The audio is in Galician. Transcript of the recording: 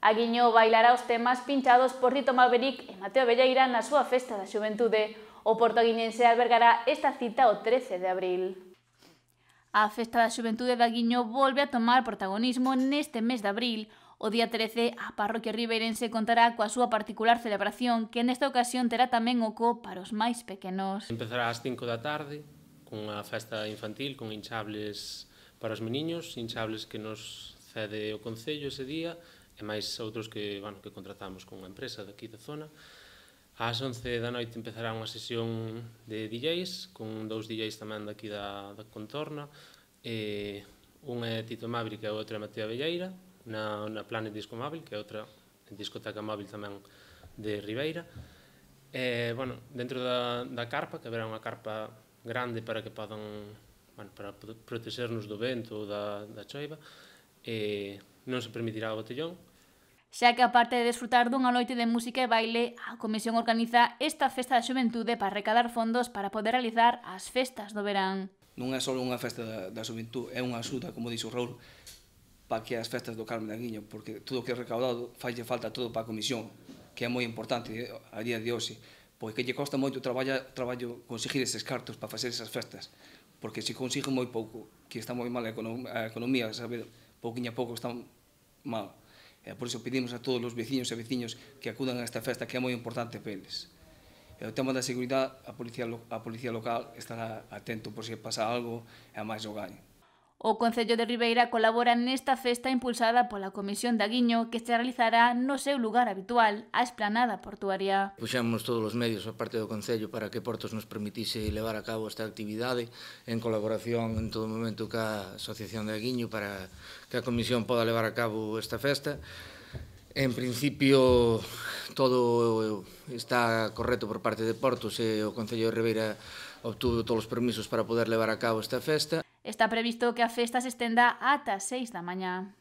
Aguiño bailará os temas pinchados por Tito Maverick e Mateo Velleira na súa festa da xuventude. O Porto Aguiñense albergará esta cita o 13 de abril. A Festa da Xuventude de Aguiño volve a tomar protagonismo neste mes de abril. O día 13, a parroquia ribeirense contará coa súa particular celebración, que nesta ocasión terá tamén oco para os máis pequenos. Empezará ás 5 da tarde, cunha festa infantil con hinchables para os meniños, hinchables que nos cede o Concello ese día, e máis outros que contratamos con unha empresa daqui da zona. Ás 11 da noite empezará unha sesión de DJs, con 2 DJs tamén daqui da contorna. Un é Tito Maverick e o outro é Mateo Velleira, na Planet Disco Móvil, que é outra discoteca móvil tamén de Ribeira. Dentro da carpa, que haberá unha carpa grande para que podan para protexernos do vento ou da choiva, non se permitirá o botellón. Xa que aparte de desfrutar dunha noite de música e baile, a Comisión organiza esta Festa da Xuventude para recadar fondos para poder realizar as festas do verán. Non é só unha festa da xuventude, é unha axuda, como dixo Raúl, para que as festas do Carme de Aguiño, porque todo o que é recaudado falle falta todo para a Comisión, que é moi importante a día de hoxe, porque lle costa moito traballo conseguir eses cartos para facer esas festas, porque se consigue moi pouco, que está moi mal a economía, sabe, pouquinho a pouco está mal. Por iso pedimos a todos os veciños e veciños que acudan a esta festa, que é moi importante para eles. O tema da seguridade, a policía local estará atento por se pasa algo e a máis o gaño. O Concello de Ribeira colabora nesta festa impulsada pola Comisión de Aguiño, que se realizará no seu lugar habitual, a Esplanada Portuaria. Puxemos todos os medios a parte do Concello para que Portos nos permitise levar a cabo esta actividade en colaboración en todo momento ca Asociación de Aguiño para que a Comisión poda levar a cabo esta festa. En principio, todo está correcto por parte de Portos e o Concello de Ribeira obtuvo todos os permisos para poder levar a cabo esta festa. Está previsto que a festa se estenda ata as 6 da mañá.